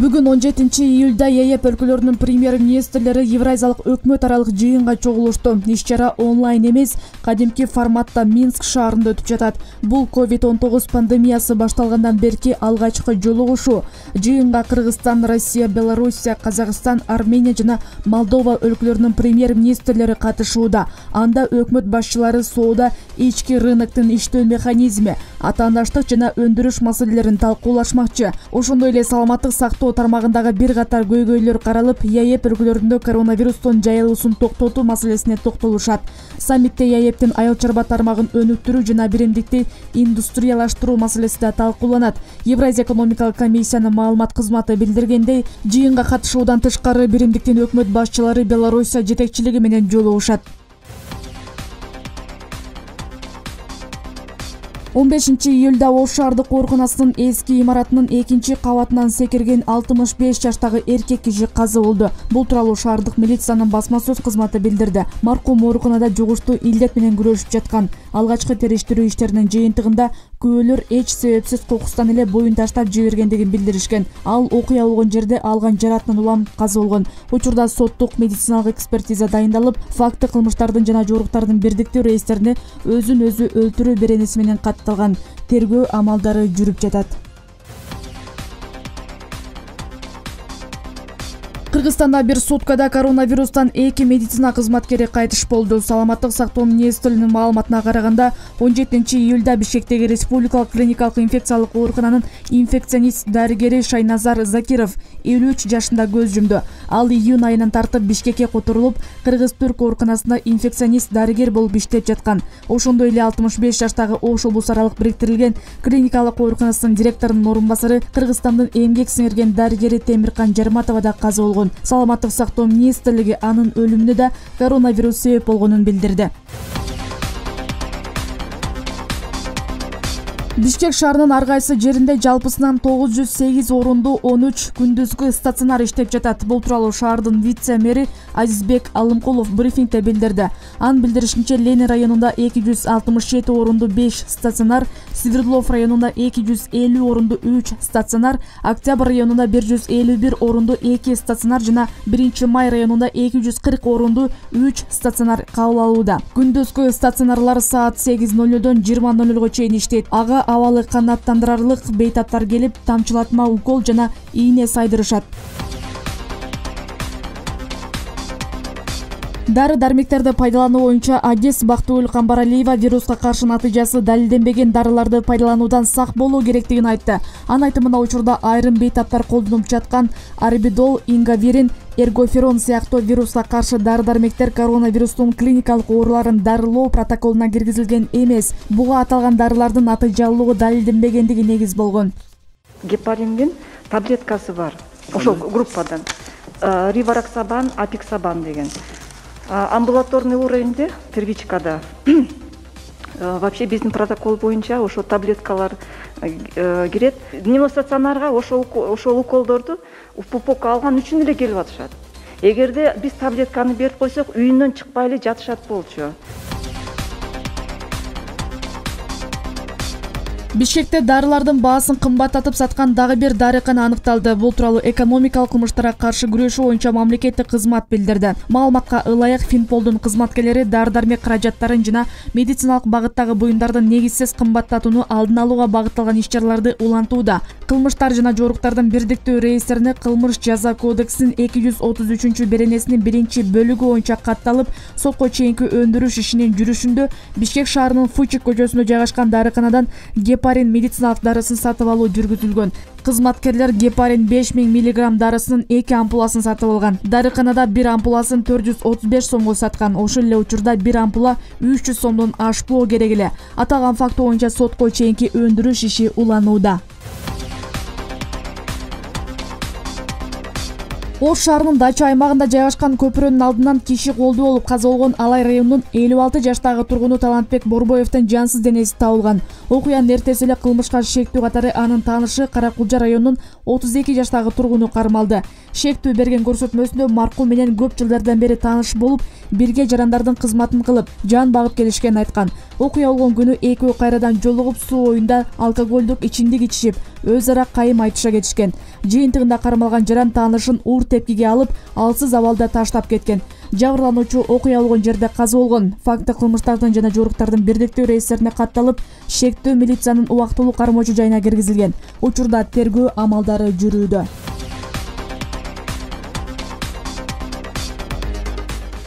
Бүгүн 17-июлда ЕЭП өлкөлөрүнүн премьер-министрлери Евразиялык өкмөт аралык жыйынга чогулушту. Иш-чара онлайн эмес, кадимки форматта Минск шаарында өтүп жатат. Бул COVID-19 пандемиясы башталгандан берки алгачкы жолугушуу. Жыйынга Кыргызстан, Россия, Белоруссия, Казакстан, Армения жана Молдова өлкөлөрүнүн премьер-министрлери катышууда. Анда өкмөт башчылары соода, ички рыноктун иштөө механизми, атаандаштык жана өндүрүш маселелерин талкуулашмакчы. Ошондой эле саламаттык сактоо тармагындагы бир катар көйгөйлөр каралып, ЕЭП өлкөлөрүндө коронавирустун жайылуусун токтотуу маселесине токтолушат. Саммитте ЕЭПтин айыл чарба тармагын өнүктүрүү жана биримдикти индустриялаштыруу маселеси да талкууланат. Евразия экономикалык комиссиянын маалымат кызматы билдиргендей, жыйынга катышуудан тышкары биримдиктин өкмөт башчылары Белоруссия жетекчилиги менен жолугушат. 15-июлда Ош шаардык ооруканасынын эски имаратынын 2-кабатынан секирген 65 жаштагы эркек киши каза болду. Бул тууралуу шаардык милициянын басма сөз кызматы билдирди. Маркум ооруканада жугуштуу илдет менен күрөшүп жаткан. Алгачкы териштирүү иштеринин жыйынтыгында күбөлөр эч себепсиз кокустан эле боюн таштап жибергендигин билдиришкен. Ал окуя болгон жерде алган жаратынан улам каза болгон. Учурда соттук медициналык экспертиза дайындалып, факты кылмыштардын жана жоруктардын бирдиктүү рейстерине өзүн өзү өлтүрүү беренеси менен катталган. Тергөө амалдары жүрүп жатат. Кыргызстанда бир суткада коронавирустан 2 медицина кызматкери кайтыш болду. Саламаттык сактоо министрлигинин маалыматына караганда, 17-июлда Бишкектеги Республикалык клиникалык инфекциялык оорукананын инфекционист дарыгери Шайназар Закиров 53 жашында көз жумду. Ал июнь айынан тартып Бишкекке которулуп, Кыргыз-Түрк ооруканасында инфекционист дарыгер болуп иштеп жаткан. Ошондой эле 65 жаштагы Ош облус аралык бириктирилген клиникалык ооруканасынын директорунун орун басары, Кыргызстандын эмгек сиңирген дарыгери Темиркан Жарматова да каза болгон. Саламаттык сактоо министрлиги анын өлүмүнө да коронавирус себеп болгонун билдирди. Бишкек шаарынын ар кайсы жеринде жалпысынан 908 орунду 13 күндүзгү стационар иштеп жатат. Бул тууралуу шаардын вице-мэри Азизбек Алымкулов брифингде билдирди. Анын билдиришинче, Ленин районунда 267 орунду 5 стационар, Свердлов районунда 250 орунду 3 стационар, Октябрь районунда 151 орунду 2 стационар жана 1-Май районунда 240 орунду 3 стационар кабыл алууда. Күндүзгү стационарлар саат 8:00дон 20:00га чейин иштейт. Ага абалы канааттандырарлык бейтаптар келип, тамчылатма укол жана ийне сайдырышат. Дары-дармектерди пайдалануу боюнча Адис Бактыгүл Камбаралиева вируска каршы натыйжасы далилденбеген дарыларды пайдалануудан сак болуу керектигин айтты. Анын айтымында, учурда айрым бейтаптар колдонуп жаткан арбидол, ингавирин, эргоферон сыяктуу вируска каршы дары-дармектер коронавирустун клиникалык ооруларын дарылоо протоколуна киргизилген эмес. Буга аталган дарылардын натыйжалуулугу далилденбегендиги негиз болгон. Гепариндин таблеткасы бар. Ошол группадан. Ривароксабан, апиксабан деген. Амбулаторный уровеньде, первичкада, вообще биздин протокол боюнча ошо таблеткалар кирет. Пневмостационарга ошол уколдорду пупок алган үчүн эле келип атышат. Эгерде биз таблетканы берип койсок, үйүнөн чыкпай эле жатышат болчу. Бишкекте дарылардын баасын кымбаттатып саткан дагы бир дарыкана аныкталды. Бул тууралуу экономикалык кылмыштарга каршы күрөшүү боюнча мамлекеттик кызмат билдирди. Маалыматка ылайык Финполдун кызматкерлери дары-дармек каражаттарын жана медициналык багыттагы буюмдардын негизсиз кымбаттатууну алдын алууга багытталган иш-чараларды улантууда. Кылмыштар жана жоруктардын бирдиктүү рейстерине Кылмыш жаза кодексинин 233 беренесинин 1-бөлүгү боюнча катталып, сотко чейинки өндүрүш ишинин жүрүшүндө Бишкек шаарынын Фучик көчөсүндө жайгашкан дарыканадан гепарин медициналык дарысын сатып алуу жүргүзүлгөн. Кызматкерлер гепарин 5000 мг дарысынын 2 ампуласын сатып алган. Дарыканада бир ампуласын 435 сомго саткан. Ошол эле учурда бир ампула 300 сомдон ашпоо керек эле. Аталган факт боюнча сотко чейинки өндүрүш иши уланууда. Ош шаарынын Дача аймагында жайгашкан көпүрөнүн алдынан киши колдуу болуп каза болгон Алай районунун 56 жаштагы тургуну Талантбек Борбоевдин жансыз денеси табылган. Окуянын эртеси эле кылмышка шектүү катары анын таанышы Каракулжа районунун 32 жаштагы тургуну кармалды. Шектүү берген көрсөтмөсүндө маркум менен көп жылдардан бери тааныш болуп, бирге жарандардын кызматын кылып, жан багып келишкенин айткан. Окуя болгон күнү экөө кайрадан жолугуп, суу оюнда алкоголдук ичимдик ичишип, өз ара кайым айтыша кетишкен. Жыйынтыгында кармалган жаран таанышын уур тепкиге алып, алсыз абалда таштап кеткен. Жабырлануучу окуя болгон жерде каза болгон. Факты кылмыштардын жана жоруктардын бирдиктүү реестерине катталып, шектүү милициянын убактылуу кармоочу жайына киргизилген. Учурда тергөө амалдары жүрүүдө.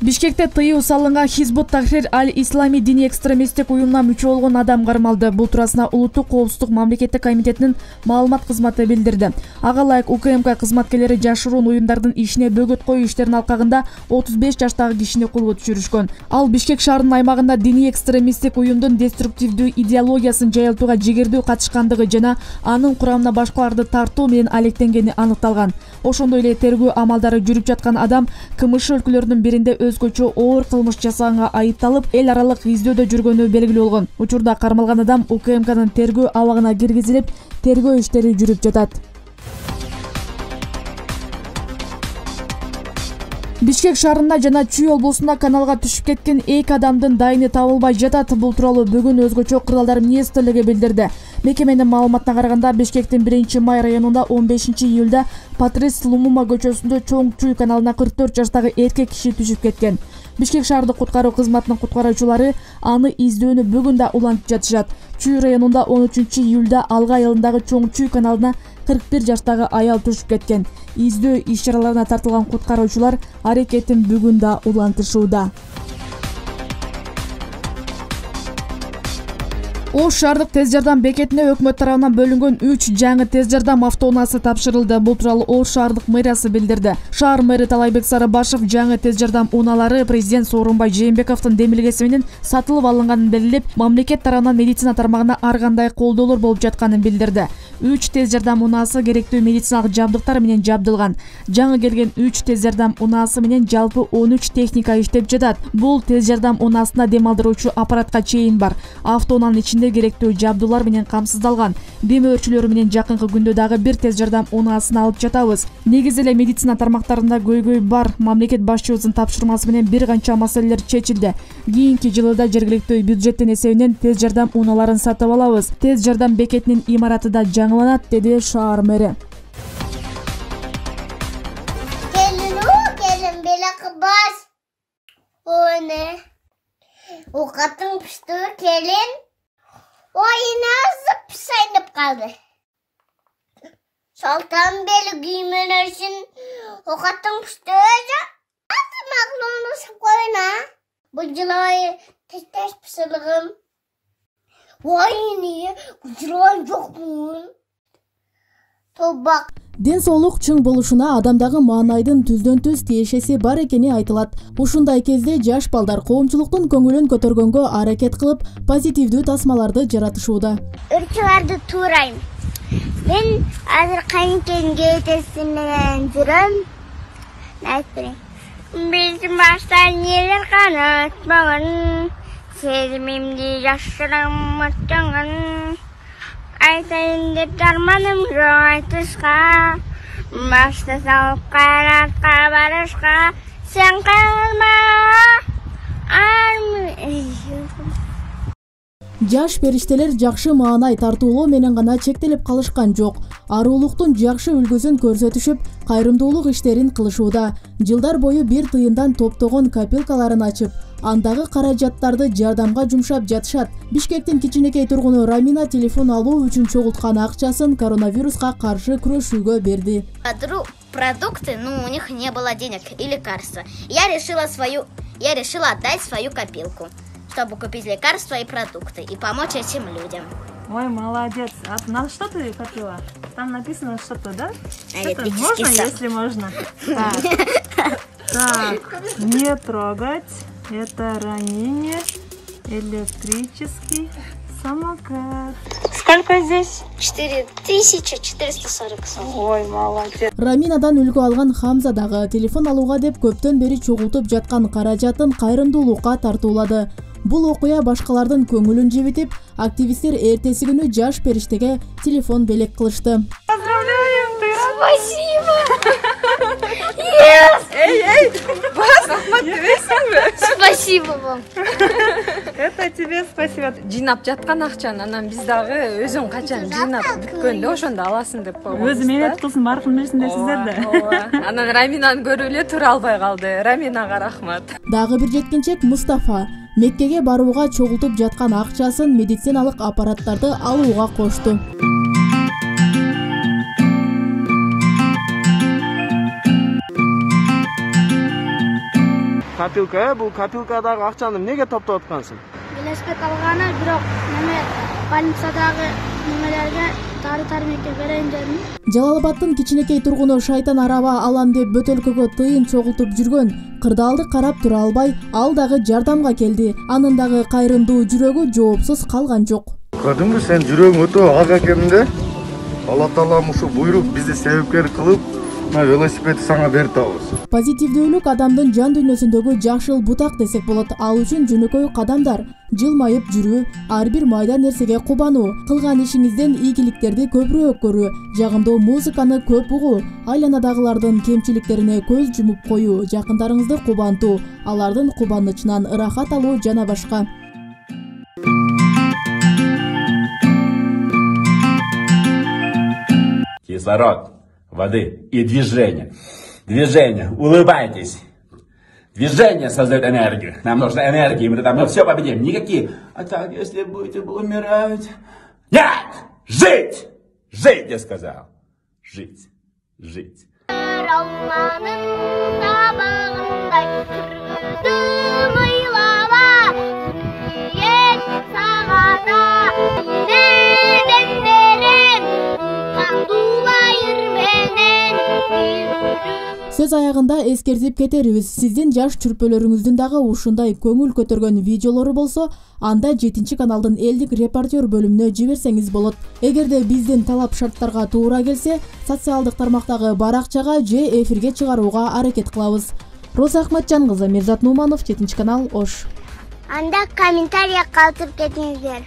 Бишкекте тыюу салынган Хизбут Тахрир аль-Ислами диний экстремисттик уюмуна мүчө болгон адам кармалды. Бул туурасында Улуттук коопсуздук мамлекеттик комитетинин маалымат кызматы билдирди. Ага ылайык УКМК кызматкерлери жашыруун уюмдардын ишине бөгөт коюу иштеринин алкагында 35 жаштагы кишини колго түшүрүшкөн. Ал Бишкек шаарынын аймагында диний экстремисттик уюмдун деструктивдүү идеологиясын жайылтууга жигердүү катышкандыгы жана анын курамына башкаларды тартуу менен алектенгени аныкталган. Ошондой эле тергөө амалдары жүрүп жаткан адам КМШ өлкөлөрүнүн биринде өзгөчө оор кылмыш жасаганга айыпталып, эл аралык издөөдө жүргөнү белгилүү болгон. Учурда кармалган адам УКМКнын тергөө абагына киргизилип, тергөө иштери жүрүп жатат. Бишкек шаарында жана Чүй облусунда каналга түшүп кеткен 2 адамдын дайыны табылбай жатат. Бул тууралуу бүгүн өзгөчө кырдаалдар министрлиги билдирди. Мекеменин маалыматына караганда, Бишкектин 1-Май районунда 15-июлда Патрис Лумума көчөсүндө Чоң Чүй каналына 44 жаштагы эркек киши түшүп кеткен. Бишкек шаардык куткаруу кызматынын куткаруучулары аны издөөнү бүгүн да улантып жатышат. Чүй районунда 13-июлда Алга айылындагы Чоң Чүй каналына 41 жаштагы аял түшүп кеткен. Издөө иш-чараларына тартылган куткаруучулар аракетин бүгүн да улантышууда. Ош шаардык тез жардам бекетине өкмөт тарабынан бөлүнгөн 3 жаңы тез жардам автоунаасы тапшырылды. Бул тууралуу Ош шаардык мэриясы билдирди. Шаар мэри Талайбек Сарыбашев жаңы тез жардам унаалары президент Сооронбай Жээнбековдун демилгеси менен сатылып алынганын белгилеп, мамлекет тарабынан медицина тармагына ар кандай колдоолор болуп жатканын билдирди. 3 тез жардам унаасы керектүү медициналык жабдыктар менен жабдылган. Жаңы келген 3 тез жардам унаасы менен жалпы 13 техника иштеп жатат. Бул тез жардам унаасында дем алдыруучу аппаратка чейин бар. Автоунаанын ичинде керектүү жабдуулар менен камсыздалган. Дем өрчүлөрү менен жакынкы күндө дагы бир тез жардам унаасын алып жатабыз. Негизи эле медицина тармактарында көйгөй бар. Мамлекет башчыбыздын тапшырмасы менен бир канча маселелер чечилди. Кийинки жылда жергиликтүү бюджеттин эсебинен тез жардам унааларын сатып алабыз. Тез жардам бекетинин имараты да жаңыланат, деди шаар мэри. Келин белек бас. Оне. Окатың пишти келин. Oyuna zıp sayınıp kaldı. Saltan beli giymene için o katın püstüğüce. Nasıl maklonu koyuna? Bu cılayı tez pısılığım. Vay niye? Bu cılayı yok mu? Tobak. Ден соолук чың болушуна адамдагы маанайдын түздөн-түз тиешеси бар экени айтылат. Ушундай кезде жаш балдар коомчулуктун көңүлүн көтөргөнгө аракет кылып, позитивдүү тасмаларды жаратышууда. Үрчүларды туурайм. Мен азыр кайынкен кетеси менен жүрөм. Айтпайм. Биз башта нелер канатпаган, сезимимди жашыраматчаңан. Айтайын деп дарманым жок айтышка, башты салып кайратка барышка, сен кайрылма. Жаш периштелер жакшы маанай тартуулоо менен гана чектелип калышкан жок. Аруулуктун жакшы үлгүсүн көрсөтүшүп, кайрымдуулук иштерин кылышууда. Жылдар бою бир тыйындан топтогон копилкаларын ачып, андагы каражаттарды жардамга жумшап жатышат. Бишкектин кичинекей тургуну Рамина телефон алуу үчүн чогулткан акчасын коронавируска каршы күрөшүүгө берди. Продукты, у них не было денег и лекарства. Я решила отдать свою копилку, чтобы купить лекарства и продукты и помочь этим людям. Ой, молодец. А на что ты копила? Там написано что-то, да? Электрический можно, сад. если можно. Так, не трогать. Это ранение. Электрический самокат. Сколько здесь? 4440 сом. Ой, молодец. Раминадан үлгү алган Хамза дагы телефон алууга деп көптөн бери чогултуп жаткан каражатын кайрымдуулукка тартуулады. Бул окуя башкалардын көңүлүн жебитип, активисттер эртеси күнү жаш периштеге телефон белек кылышты. Поздравляем, ты Спасибо! Yes! Эй, бас, Ахмат, ты весел? Спасибо вам. Это тебе спасибо. Жыйнап жаткан акчаны анан биз дагы өзүң качан жыйнап бүткөндө ошондо аласың деп койгонбуз. Өзү менет кылсын баркын берсиндер сиздер да. Ооба. Анан Раминаны көрүп эле тура албай калды. Раминага рахмат. Дагы бир жеткинчек Мустафа Меккеге барууга чогултуп жаткан акчасын медициналык аппараттарды алууга кошту. Копилка, бул копилкадагы акчаны эмнеге топтоп аткансың? Велосипед алганы, бирок неме больницадагы немелерге дары-дармекке берейин дедим. Жалал-Абадтын кичинекей тургуну шайтан араба алам деп бөтөлкөгө тыйын чогултуп жүргөн кырдаалды карап тура албай, ал дагы жардамга келди. Анын дагы кайрымдуу жүрөгү жоопсуз калган жок. Көрдүңбү, сен жүрөгүң өтө ак экенинде. Алла Таалам ушу буйрук бизди себепкер кылып, велосипедди сага берип атабыз. Позитивдүүлүк адамдын жан дүйнөсүндөгү жакшыл бутак десек болот. Ал үчүн жөнөкөй кадамдар, жылмайып жүрүү, ар бир майда нерсеге кубануу, кылган ишиңизден ийгиликтерди көбүрөөк көрүү, жагымдуу музыканы көп угуу, айланадагылардын кемчиликтерине көз жумуп коюу, жакындарыңызды кубантуу, алардын кубанычынан ырахат алуу жана башка. Кислород, воды и движение. Движение. Улыбайтесь. Движение создает энергию. Нам нужна энергия, мы тогда все победим. Никакие. А так, если будете умирать... Нет! Жить! Жить, я сказал. Жить. Жить. Сөз аягында эскертип кетерибиз. Сиздин жаш чүрпөлөрүңүздүн дагы ушундай көңүл көтөргөн видеолору болсо, анда 7 каналдын элдик репортер бөлүмүнө жиберсеңиз болот. Эгерде биздин талап шарттарга туура келсе, социалдык тармактагы баракчага же эфирге чыгарууга аракет кылабыз. Роза Ахматжан кызы, Мирзат Нуманов, 7 канал, Ош. Анда комментарий калтырып кетиңиздер.